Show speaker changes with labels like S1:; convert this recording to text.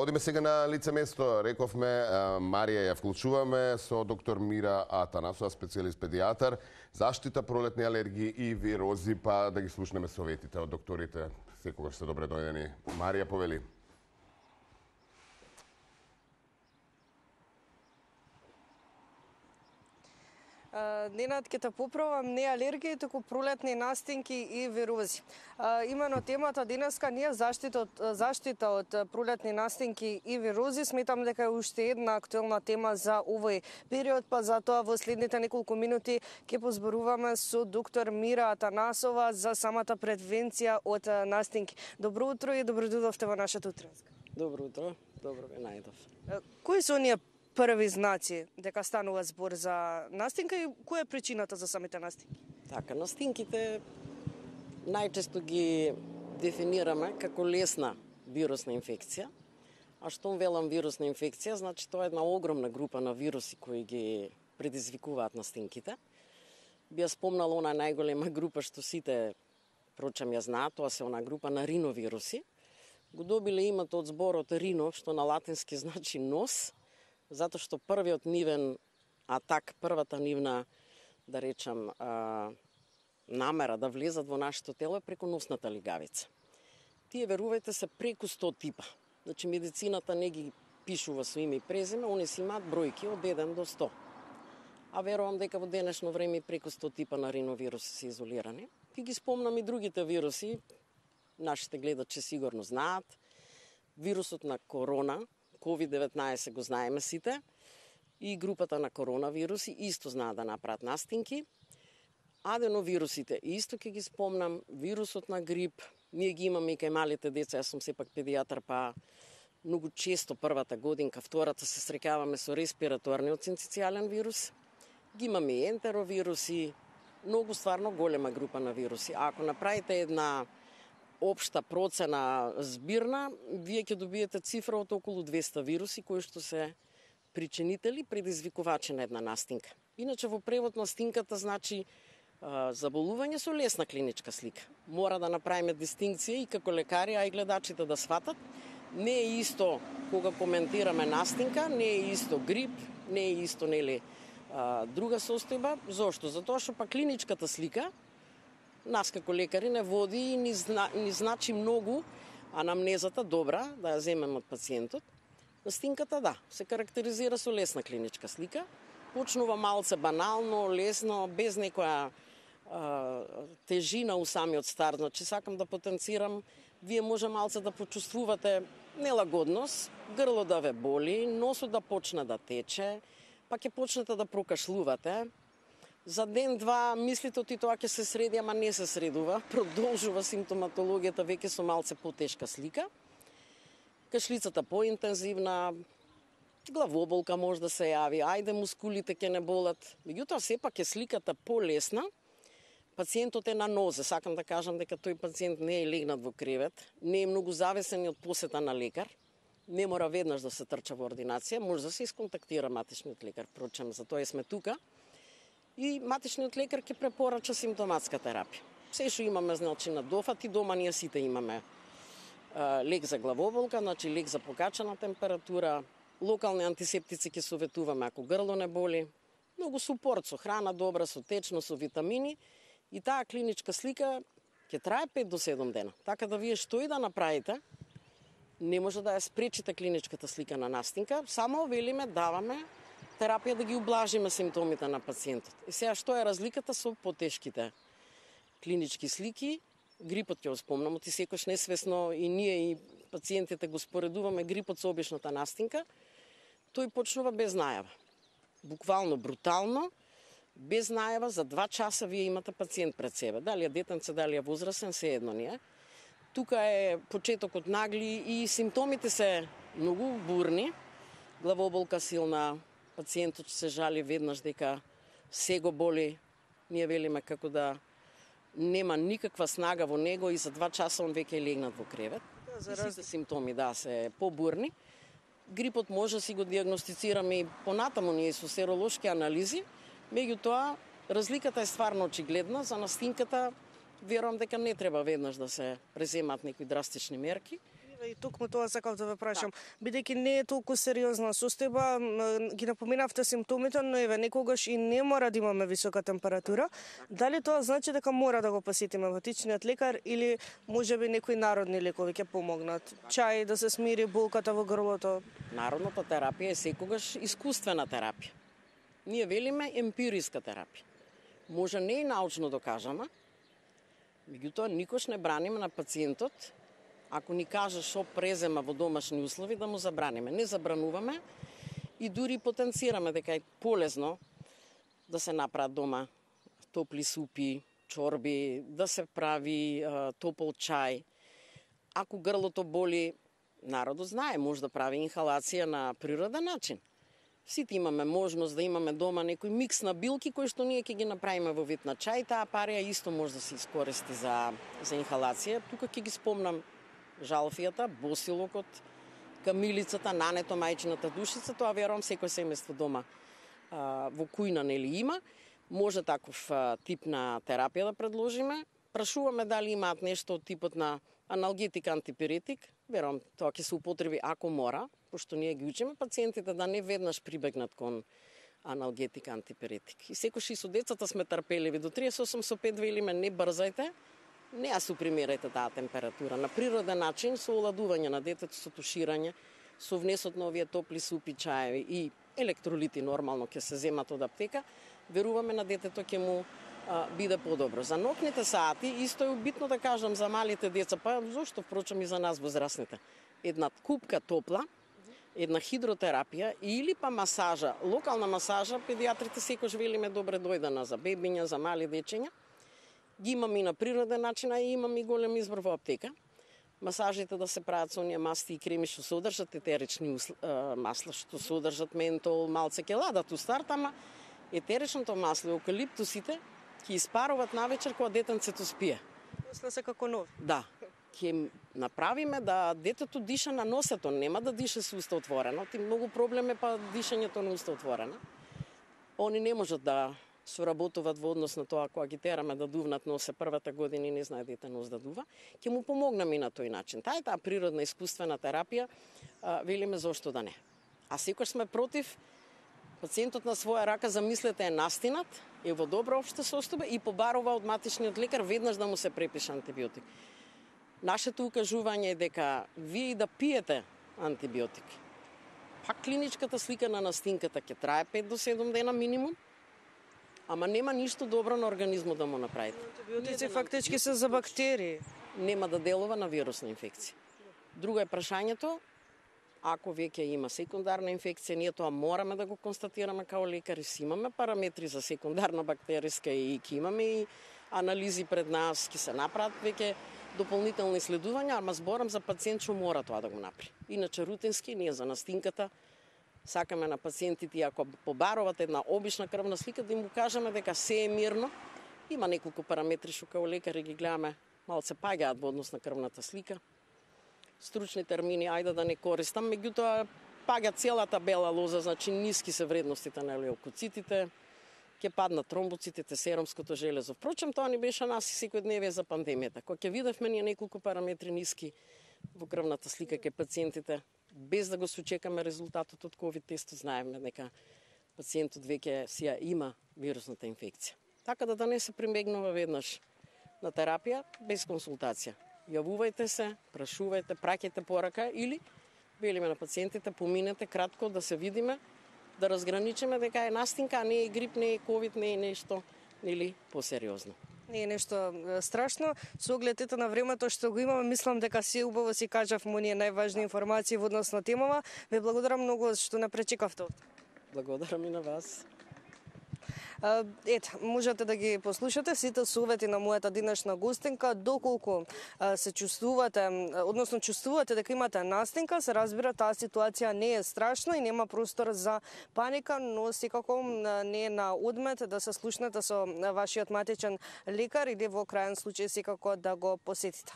S1: Одиме сега на лице место. Рековме, Марија ја вклучуваме со доктор Мира Атанасова, специјалист педијатар, заштита пролетни алергии и вирози, па да ги слушнеме советите од докторите. Секогаш се добре дојдени. Марија, повели.
S2: Ненад, ќе те поправам, не алергии, туку пролетни настинки и вирози. Имено темата денеска не е заштита од пролетни настинки и вирози. Сметам дека е уште една актуелна тема за овој период, па затоа во следните неколку минути ќе позборуваме со доктор Мира Атанасова за самата превенција од настинки. Добро утро и добро дојдовте во нашата утринска.
S3: Добро утро, добро ве најдов.
S2: Кои се оние први знаци дека станува збор за настинка и која е причината за самите настинки?
S3: Така, настинките најчесто ги дефинираме како лесна вирусна инфекција. А што велам вирусна инфекција, значи тоа е една огромна група на вируси кои ги предизвикуваат настинките. Би ја спомнала она најголема група што сите прочам ја знаат, тоа се она група на риновируси. Го добиле името од зборот рино, што на латински значи нос, затоа што првиот нивен атак, првата нивна, да речам, намера да влезат во нашето тело е преку носната лигавица. Тие, верувајте се, преку 100 типа. Значи, медицината не ги пишува со име и презиме, они си имаат бројки од 1 до 100. А верувам дека во денешно време преку 100 типа на риновируси се изолирани. Ти ги спомнам и другите вируси, нашите гледачи сигурно знаат. Вирусот на корона, COVID-19 го знаеме сите, и групата на коронавируси исто знаат да направат настинки. Аденовирусите исто ќе ги спомнам, вирусот на грип, ние ги имаме и кај малите деца, јас сум сепак педијатар, па многу често првата годинка, втората се среќаваме со респираторниот синцитијален вирус. Ги имаме и ентеровируси, многу стварно голема група на вируси. А ако направите една општа процена збирна, вие ќе добиете цифра од околу 200 вируси кои што се причинители, предизвикувачи на една настинка. Иначе во превод настинката значи заболување со лесна клиничка слика. Мора да направиме дистинкција и како лекари, а и гледачите да сватат. Не е исто кога коментираме настинка, не е исто грип, не е исто друга состојба. Зошто? Затоа што па клиничката слика нас како лекари не води и ни значи многу анамнезата добра да ја земеме од пациентот. Настинката да, се карактеризира со лесна клиничка слика. Почнува малце банално, лесно, без некоја тежина у самиот старт. Значи, сакам да потенцирам, вие може малце да почувствувате нелагодност, грло да ве боли, носот да почне да тече, па ќе почнете да прокашлувате. За ден-два мислите оти тоа ќе се среди, ама не се средува. Продолжува симптоматологијата веќе со малце потешка слика. Кашлицата поинтензивна, главоболка може да се јави, ајде мускулите ќе не болат. Меѓутоа сепак е сликата полесна. Пациентот е на нозе, сакам да кажам дека тој пациент не е легнат во кревет, не е многу зависен од посета на лекар. Не мора веднаш да се трча во ординација, може да се исконтактира матичниот лекар, впрочем, за тоа сме тука. И матичниот лекар ќе препорача симптоматска терапија. Се што имаме, значи, на дофат и дома ние сите имаме лек за главоболка, значи лек за покачена температура, локални антисептици ќе советуваме ако грло не боли, многу супорт со храна добра, со течно, со витамини и таа клиничка слика ќе трае 5 до 7 дена. Така да вие што и да направите, не може да ја спречите клиничката слика на настинка, само велиме, даваме терапија да ги ублажиме симптомите на пациентот. И сега што е разликата со потешките клинички слики? Грипот ќе го спомнам, оти секојаш несвесно и ние и пациентите го споредуваме грипот со обичната настинка. Тој почнува без најава. Буквално брутално, без најава, за 2 часа вие имате пациент пред себе. Дали е детенце, дали е возрасен, се едно ни е. Тука е почетокот нагли и симптомите се многу бурни. Главоболка силна, пациентот се жали веднаш дека се го боли. Ние велиме како да нема никаква снага во него и за 2 часа он веќе е легнат во кревет. Сите симптоми се побурни. Грипот може да си го диагностицираме и понатаму ние со серолошки анализи, меѓутоа разликата е стварно очигледна. За настинката верувам дека не треба веднаш да се преземат некои драстични мерки.
S2: И токму тоа сакав да ве прашам. Бидејќи не е толку сериозна состојба, ги напоменавте симптомите, но еве некогаш и не мора да имаме висока температура. Дали тоа значи дека мора да го посетиме ватичниот лекар или можеби некои народни лекови ќе помогнат? Чај да се смири болката во грлото?
S3: Народната терапија е секогаш искуствена терапија. Ние велиме емпириска терапија. Може не и научно докажана, меѓутоа никош не браниме на пациентот, ако ни каже што презема во домашни услови, да му забраниме. Не забрануваме и дури потенцираме дека е полезно да се направат дома топли супи, чорби, да се прави топол чај. Ако грлото боли, народот знае, може да прави инхалација на природен начин. Сите имаме можност да имаме дома некој микс на билки кои што ние ќе ги направиме во вид на чај. Таа парија исто може да се искористи за инхалација. Тука ќе ги спомнам жалфијата, босилокот, камилицата, нането, мајчината душица. Тоа верувам секој семејство дома во кујна нели има. Може таков тип на терапија да предложиме. Прашуваме дали имаат нешто од типот на аналгетик, антипиретик. Верувам тоа ќе се употреби ако мора, пошто ние ги учиме пациентите да не веднаш прибегнат кон аналгетик, антипиретик. И секој и со децата сме трпеливи. До 38 со 5 велиме не брзајте, не ја супримирајте таа температура. На природен начин, со оладување на детето, со туширање, со внесот на овие топли супи, чаеви и електролити нормално ќе се земат од аптека, веруваме на детето ќе му биде подобро. За ноќните сати исто е битно да кажам за малите деца, па зошто впрочем и за нас возрастните. Една купка топла, една хидротерапија или па масажа, локална масажа, педиатрите секој велиме добре дојдена за бебиња, за мали дечиња. Ги имам и на природен начин, а и имам и голем избор во аптека. Масажите да се прават со оние масти и креми што содржат етерични масла, што содржат ментол, малце ќе ладат у старт, ама етеричното масло и евкалиптусите ќе испаруваат навечер кога детенцето спие.
S2: После се како нов.
S3: Да. Ќе направиме да детето диша на носето, нема да диша со уста отворено. Ти многу проблем е па дишањето на уста отворено. Они не можат да соработуваат во однос на тоа кога ги тераме да дувнат носе првата година и не знае дете нос да дува. Ќе му помогнеме и на тој начин. Таа природна искуствена терапија, велиме зошто да не. А секој сме против пациентот на своја рака, замислете, е настинат, е во добра општа состојба и побарува од матичниот лекар веднаш да му се препише антибиотик. Нашето укажување е дека вие и да пиете антибиотик, пак клиничката слика на настинката ќе трае 5 до 7 дена минимум, ама нема ништо добро на организмот да му направите.
S2: Антибиотици фактички се за бактерии.
S3: Нема да делува на вирусна инфекција. Друго е прашањето, ако веќе има секундарна инфекција, ние тоа мораме да го констатираме као лекари, си имаме параметри за секундарна бактериска и ќе имаме и анализи пред нас, ќе се направат веќе дополнителни исследувања, ама зборам за пациент што мора тоа да го направи. Иначе рутински, ние за настинката сакаме на пациентите, ако побаруват една обична крвна слика, да им го кажеме дека се е мирно. Има неколку параметри што као лекари ги гледаме, малце паѓаат во однос на крвната слика. Стручни термини, ајде да не користам, меѓутоа паѓа целата бела лоза, значи ниски се вредностите на леукоцитите, ќе паднат тромбоцитите, серумското железо. Впрочем, тоа ни беше нас и секојдневие за пандемијата. Кога ќе видевме ние неколку параметри ниски во крвната слика ке пациентите, без да го сочекаме резултатот од ковид тестот, знаеме дека пациентот веќе си ја има вирусната инфекција. Така да не се примегнува веднаш на терапија без консултација. Јавувајте се, прашувајте, праќајте порака или велиме на пациентите, поминете кратко да се видиме, да разграничиме дека е настинка, а не е грип, не е ковид, не е нешто или посериозно.
S2: Не е нешто страшно. Со оглед на времето што го имаме, мислам дека се убаво си кажавме оние најважни информации во однос на темава. Ве благодарам многу што не пречекавте.
S3: Благодарам и на вас.
S2: Ето, можете да ги послушате сите совети на мојата денешна гостинка. Доколку се чувствувате, односно чувствувате дека имате настинка, се разбира таа ситуација не е страшна и нема простор за паника, но секако не е на одмет да се слушнете со вашиот матичен лекар или во крајен случај секако да го посетите.